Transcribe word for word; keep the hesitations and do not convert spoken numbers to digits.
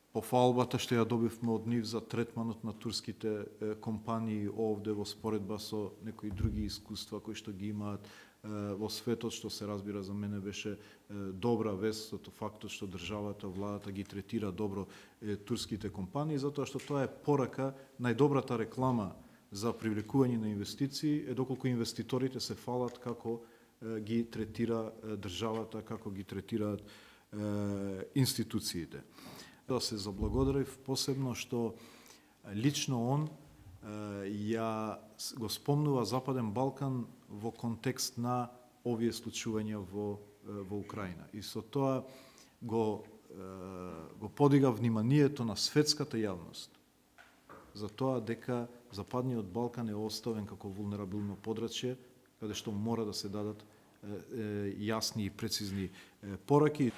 Пофалбата што ја добивме од нив за третманот на турските компании овде во споредба со некои други искуства кои што ги имаат во светот, што се разбира за мене беше добра вест, од фактот што државата, владата ги третира добро турските компании, затоа што тоа е порака, најдобрата реклама за привлекување на инвестиции е доколку инвеститорите се фалат како ги третира државата, како ги третираат институциите. Да се заблагодарив посебно што лично он ја го спомнува Западен Балкан во контекст на овие случувања во во Украина. И со тоа го го подига вниманието на светската јавност за тоа дека Западниот Балкан е оставен како вулнерабилно подрачје каде што мора да се дадат јасни и прецизни пораки.